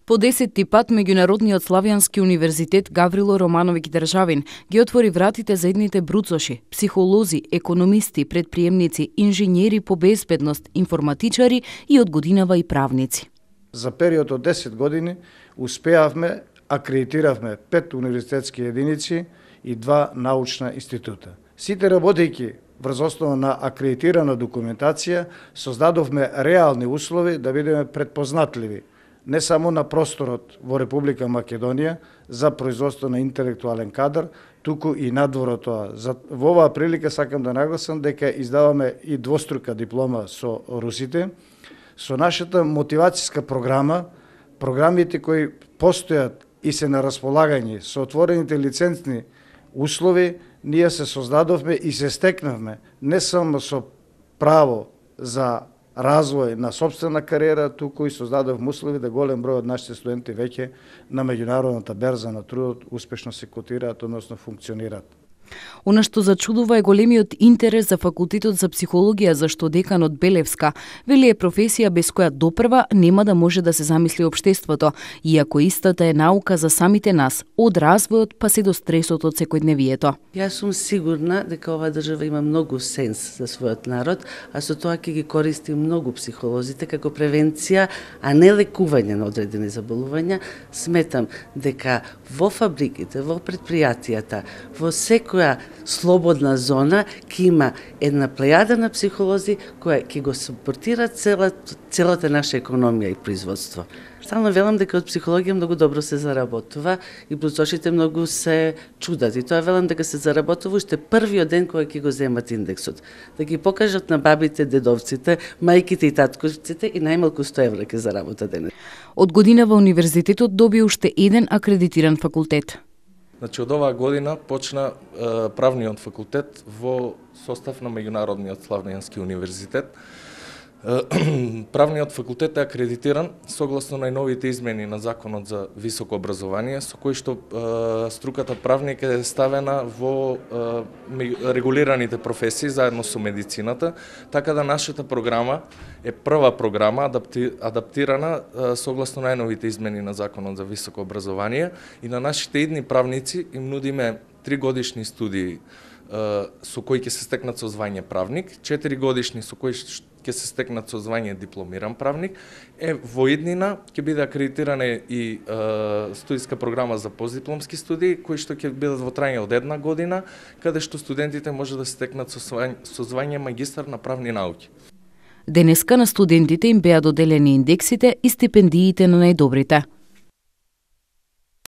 По 10-ти пат Меѓународниот славјански универзитет Гаврило Романовиќ Државин ги отвори вратите за едните бруцоши, психолози, економисти, предприемници, инженери по безбедност, информатичари и од годинава и правници. За период од 10 години успеавме, акредитиравме 5 универзитетски единици и 2 научна института. Сите работејќи врз основа на акредитирана документација, создадовме реални услови да бидеме предпознатливи не само на просторот во Република Македонија за производство на интелектуален кадар, туку и надвор од тоа. Во оваа прилика сакам да нагласам дека издаваме и двострука диплома со русите, со нашата мотивацијска програма, програмите кои постојат и се на располагање со отворените лиценцни услови, ние се создадовме и се стекнавме не само со право за развој на собствена кариера, туку и создадовме услови да голем број од нашите студенти веќе на меѓународната берза на трудот успешно се котираат, односно функционираат. Она што зачудува е големиот интерес за факултетот за психологија, зашто деканот Белевска вели е професија без која допрва нема да може да се замисли општеството, иако истата е наука за самите нас, од развојот па се до стресот од секојдневието. Јас сум сигурна дека оваа држава има многу сенс за својот народ, а со тоа ќе ги користи многу психолозите како превенција, а не лекување на одредени заболувања. Сметам дека во фабриките, во предпријатијата, во секоја слободна зона ќе има една плејада на психолози која ќе го супортира целата наша економија и производство. Стално велам дека од психологија многу добро се заработува и бруцошите многу се чудат. И тоа велам дека се заработува уште првиот ден кога ќе го земат индексот. Да ги покажат на бабите, дедовците, мајките и татковците и најмалку 100 евра ќе заработат денес. Од годинава универзитетот доби уште еден акредитиран факултет. Значи, од оваа година почна правниот факултет во состав на Меѓународниот славјански универзитет. Правниот факултет е акредитиран согласно најновите измени на Законот за високо образование, со кој што струката правник е ставена во регулираните професии заедно со медицината, така да нашата програма е прва програма адаптирана согласно најновите измени на Законот за високо образование и на нашите идни правници им нудиме 3 годишни студии со кои ќе се стекнат со звање правник, 4 годишни со кои ќе се стекнат со звање дипломиран правник, во иднина ќе биде акредитирана и студиска програма за постдипломски студии, кои што ќе бидат во трајање од 1 година, каде што студентите може да се стекнат со звање магистар на правни науки. Денеска на студентите им беа доделени индексите и стипендиите на најдобрите.